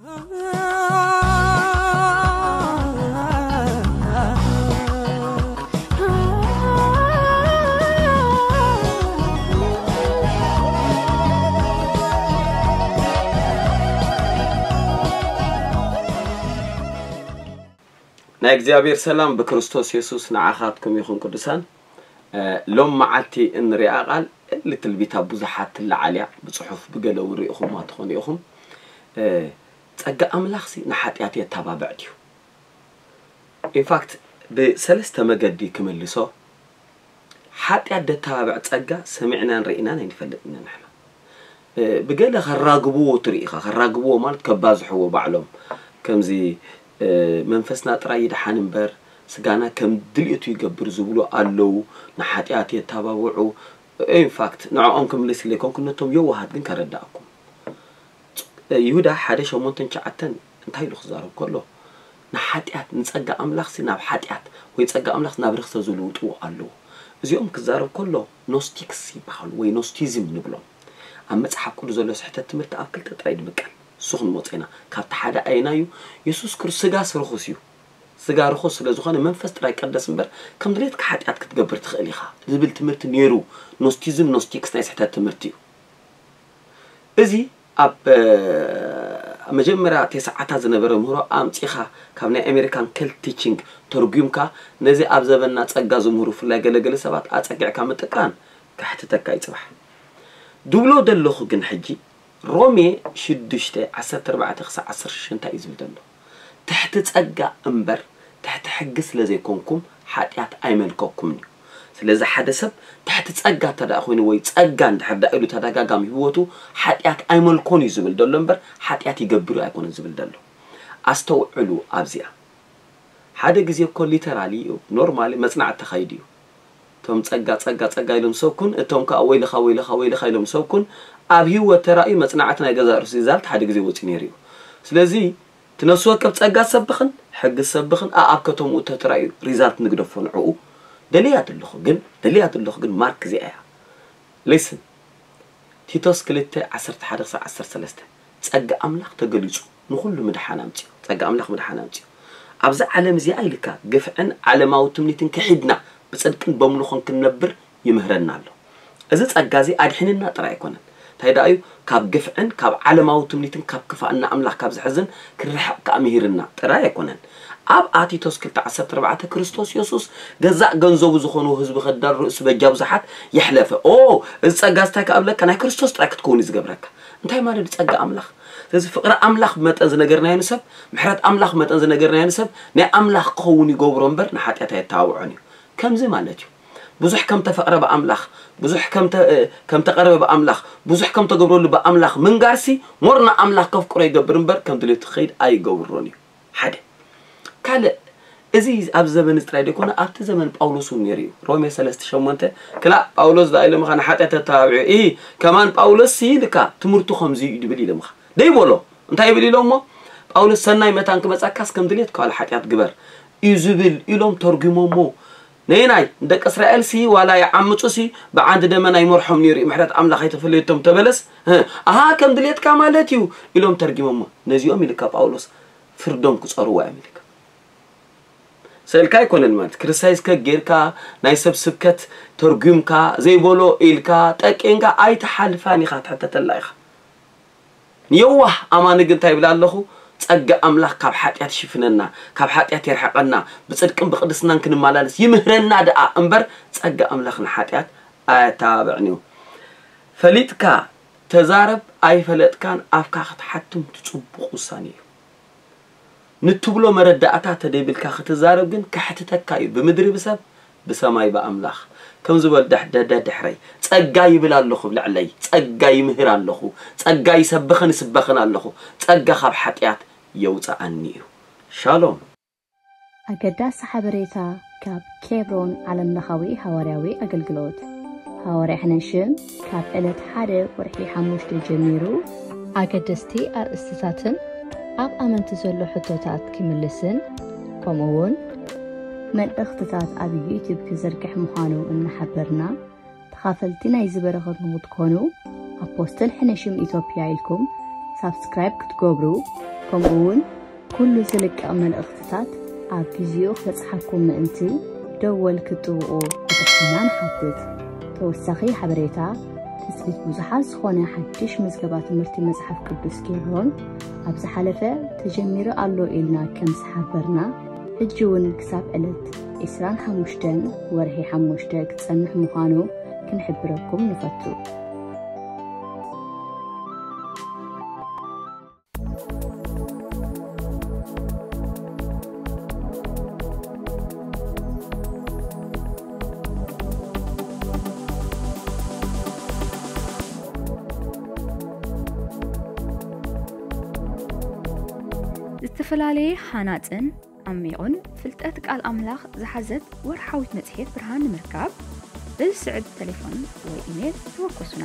ናይ እግዚኣብሔር ሰላም ብክርስቶስ የሱስ ንዓኻትኩም ይኹን። ቅዱሳን፣ ሎም መዓልቲ እንሪኣ ቃል ልትልቢታ ብዙሓት ትለዓል እያ። ብፅሑፍ ብገለ እውን ርኢኹማ ትኾኑ ኢኹም። ጸጋ ኣምላኽሲ ንሓጢኣት የተባብዕ ድዩ? ኢንፋክት፣ ብሰለስተ መገዲ ክምልሶ። ሓጢኣት ደተባብዕ ጸጋ ሰሚዕናን ርኢናን ኣይንፈልጥን ኢና ንሕና። ብገለ ከራግብዎ ትርኢ ኢኻ። ከራግብዎ ማለት ከባዝሕዎ ባዕሎም። ከምዚ መንፈስና ጥራይ ይድሓን እምበር ስጋና ከም ድልየቱ ይገብር ዝብሉ ኣለዉ። ንሓጢኣት የተባብዑ። ኢንፋክት ንዕኦም ክምልስ ኢለ ኣይኮንኩን፣ ነቶም የዋሃት ግን ከረዳእኩም። ይሁዳ ሓደ ሸሞንተን ትሽዓተን እንታይ ኢሉ ክዛረብ ከሎ፣ ንሓጢኣት ንጸጋ ኣምላኽሲ ናብ ሓጢኣት ወይ ጸጋ ኣምላኽ ናብ ርኽሰ ዝልውጥዎ ኣለዉ። እዚኦም ክዛረብ ከሎ ኖስቲክስ ይበሃሉ ወይ ኖስቲዝም ንብሎም። ኣብ መጽሓፍ ቅዱስ ዘሎ ስሕተት ትምህርቲ ኣብ ክልተ ጥራይ ድምቀል። እሱ ክንመጾ ኢና። ካብቲ ሓደ ኣየናይ እዩ? የሱስ ክርስቶስ ስጋስ ርኹስ እዩ። ስጋ ርኹስ ስለ ዝኾነ መንፈስ ጥራይ ቀደስ እምበር ከም ድሌትካ ሓጢኣት ክትገብር ትኽእል ኢኻ ዝብል ትምህርቲ ነይሩ። ኖስቲዝም ኖስቲክስ ናይ ስሕተት ትምህርቲ እዩ። እዚ ኣብ መጀመርያ ተስዓታት ዝነበረ ምህሮ ኣምጺኻ ካብ ናይ ኣሜሪካን ከልት ቲቺንግ ተርጉምካ ነዚ ኣብ ዘበንና ጸጋ ዝምህሩ ብፍላይ ገለገለ ሰባት ኣጸጊዕካ ምጥቃን ከሕትተካ እዩ ጽባሕ። ድብሎ ደለኹ ግን ሕጂ ሮሜ ሽዱሽተ ዓሰርተ ኣርባዕተ ክሳዕ ዓሰርተ ሽዱሽተ እንታይ እዩ ዝብል ዘሎ? ትሕቲ ጸጋ እምበር ትሕቲ ሕጊ ስለ ዘይኮንኩም ሓጢኣት ኣይመልከኩምን እዩ። ስለዚ ሓደ ሰብ ትሕቲ ጸጋ እንተ ደኣ ኮይኑ ወይ ጸጋ እንድሕር ደኣ ኢሉ ተደጋጋሚ ህይወቱ ሓጢኣት ኣይመልኮን እዩ ዝብል ዘሎ እምበር ሓጢኣት ይገብር እዩ ኣይኮነን ዝብል ዘሎ። ኣስተውዕሉ ኣብዚኣ። ሓደ ግዜ እኮ ሊተራሊ እዩ ኖርማሊ መጽናዕቲ ተኻይዱ እዩ። እቶም ጸጋ ጸጋ ጸጋ ኢሎም ሰብኩን እቶም ከኣ ወይልኻ ወይልኻ ወይልኻ ኢሎም ሰብኩን ኣብ ህይወት ተራእዩ መጽናዕቲ ናይ ገዛእ ርእሱ ሪዛልት ሓደ ግዜ ወጺኡ ነይሩ እዩ። ስለዚ እቲ ነፍሲ ወከፍ ጸጋ ዝሰብኽን ሕጊ ዝሰብኽን ኣኣብ ከተምኡ ተተራእዩ ሪዛልት ንግደፎ ንዕኡ። ደልያ ዘለኹ ግን ደልያ ዘለኹ ግን ማርክ እዚኣ እያ። ሊስን ቲቶስ ክልተ ዓሰርተ ሓደ ክሳብ ዓሰርተ ሰለስተ ጸጋ ኣምላኽ ተገሊጹ ንኹሉ ምድሓን ኣምጺኡ። ጸጋ ኣምላኽ ምድሓን ኣምጺኡ። ኣብዚ ዓለም እዚኣ ኢልካ ግፍዕን ዓለማዊ ትምኒትን ክሒድና ብጽድቅን በምልኾን ክንነብር ይምህረና ኣሎ። እዚ ጸጋ እዚ ኣድሒንና ጥራይ ኣይኮነን። እንታይ ደኣ እዩ? ካብ ግፍዕን ካብ ዓለማዊ ትምኒትን ካብ ክፋእና ኣምላኽ ካብ ዝሕዝን ክርሕቕ ከኣ ምሂርና ጥራይ ኣይኮነን። ኣብ ኣቲቶስ ክልተ ዓሰርተ ኣርባዕተ ክርስቶስ የሱስ ገዛእ ገንዘቡ ዝኾኑ ህዝቢ ከዳል ርእሱ በጃ ብዙሓት የሕለፈ። ኦ፣ እዚ ጸጋ እዚ እንታይ ከኣ እብለካ? ናይ ክርስቶስ ጥራይ ክትከውን እዩ ዝገብረካ። እንታይ ማለት እዩ ጸጋ ኣምላኽ? ስለዚ ፍቕሪ ኣምላኽ መጠን ዝነገርናዮ ንሰብ፣ ምሕረት ኣምላኽ መጠን ዝነገርናዮ ንሰብ ናይ ኣምላኽ ክኸውን ይገብሮ እምበር ንሓጢኣት ኣየተባብዖን እዩ። ከምዚ ማለት እዩ። ብዙሕ ከም ተፈቕረ ብኣምላኽ፣ ብዙሕ ከም ተ-፣ ከም ተቐረበ ብኣምላኽ፣ ብዙሕ ከም ተገብረሉ ብኣምላኽ ምንጋርሲ ሞር ንኣምላኽ ከፍቅሮ ይገብር እምበር ከም ድሌቱ ክኸይድ ኣይገብሮን እዩ። ሓደ። ካልእ፣ እዚ ኣብ ዘመን እዚ ጥራይ ዘይኮነ ኣብቲ ዘመን ጳውሎስ እውን ነይሩ እዩ። ሮሜ ሰለስተ ሸሞንተ ክላእ ጳውሎስ ደኣ ኢሎምኻ ንሓጢኣት ተተባብዑ። ኢ ከማን ጳውሎስ ሲ ልካ ትምህርቱ ከምዚ እዩ ድብል ኢሎምኻ። ደይበሎ እንታይ ይብል ኢሎሞ? ጳውሎስ ሰናይ መታን ክመጻካስ ከም ድሌት ከዋል ሓጢኣት ግበር እዩ ዝብል ኢሎም ተርጉሞሞ። ነይናይ ንደቂ እስራኤል ሲ ዋላ ይዓምጹ ሲ ብዓንዲ ደመና ይመርሖም ነይሩ እዩ። ምሕረት ኣምላኽ ኣይተፈለየቶም ተበለስ። እ፣ ኣሃ ከም ድሌትካ ማለት እዩ ኢሎም ተርጊሞሞ። ነዚኦም ኢልካ ጳውሎስ ፍርዶም ክጸርዋ እዮም ኢልካ። ስእልካ ኣይኮነን ማለት ክርሳይስከ ጌርካ ናይ ሰብ ስብከት ተርጉምካ ዘይበሎ ኢልካ ጠቂንካ ኣይትሓልፋን ኢኻ ትሕተተላ ኢኻ። ንየዋህ ኣማኒ ግን እንታይ ይብል ኣለኹ? ጸጋ ኣምላኽ ካብ ሓጢኣት ይሽፍነና፣ ካብ ሓጢኣት የርሕቐና፣ ብጽድቅን ብቕድስናን ክንመላለስ ይምህረና ደኣ እምበር ጸጋ ኣምላኽ ንሓጢኣት ኣየተባብዕን እዩ። ፈሊጥካ ተዛረብ ኣይፈለጥካን ኣፍካ ክትሓትም እቲ ጽቡቕ ውሳኔ እዩ። ንትብሎ መረዳእታ ተደይብልካ ክትዛረብ ግን ከሕትተካ እዩ ብምድሪ ብሰብ ብሰማይ ብኣምላኽ። ከም ዝበል ደሕ-፣ ደደ ድሕረይ ጸጋ ይብል ኣለኹ ኣብ ልዕለይ፣ ጸጋ ይምህር ኣለኹ፣ ጸጋ ይሰብኽን ይስበኽን ኣለኹ፣ ጸጋ ካብ ሓጢኣት የውጽኣኒ እዩ። ሻሎም። ኣገዳሲ ሓበሬታ ካብ ኬብሮን ዓለምለኻዊ ሃዋርያዊ ኣገልግሎት። ሃዋርያ ሕነሽም ካብ ዕለት ሓደ ወርሒ ሓሙሽተ ጀሚሩ ኣገደስቲ ኣርእስትታትን ኣብ ኣመንቲ ዘሎ ሕቶታት ክምልስን ከምኡውን መልእኽትታት ኣብ ዩቱብ ክዝርግሕ ምዃኑ እናሓበርና፣ ተኻፈልቲ ናይዚ በረኸት ንኽትኮኑ ኣፖስትል ሕነሽም ኢትዮጵያ ኢልኩም ሳብስክራይብ ክትገብሩ፣ ከምኡ እውን ኩሉ ዝልቀቕ መልእኽትታት ኣብ ግዜኡ ክበጽሓኩም ምእንቲ ደወል ክትጥውቑ ብትሕትና ንሓትት። ተወሳኺ ሓበሬታ፣ ትጽቢት ብዙሓት ዝኾነ ሓድሽ ምዝገባ ትምህርቲ መጽሓፍ ቅዱስ ኬብሮን ኣብ ዝሓለፈ ተጀሚሩ ኣሎ ኢልና ከም ዝሓበርና፣ ሕጂ እውን ክሳብ ዕለት ዕስራን ሓሙሽተን ወርሒ ሓሙሽተ ክጸንሕ ምዃኑ ክንሕብረኩም ንፈቱ። ዝተፈላለየ ሃናጽን ዓሚቑን ፍልጠት ቃል ኣምላኽ ዝሓዘት ወርሓዊት መጽሔት ብርሃን ንምርካብ፣ በዚ ስዕብ ተሌፎን ወይ ኢሜል ተወከሱና።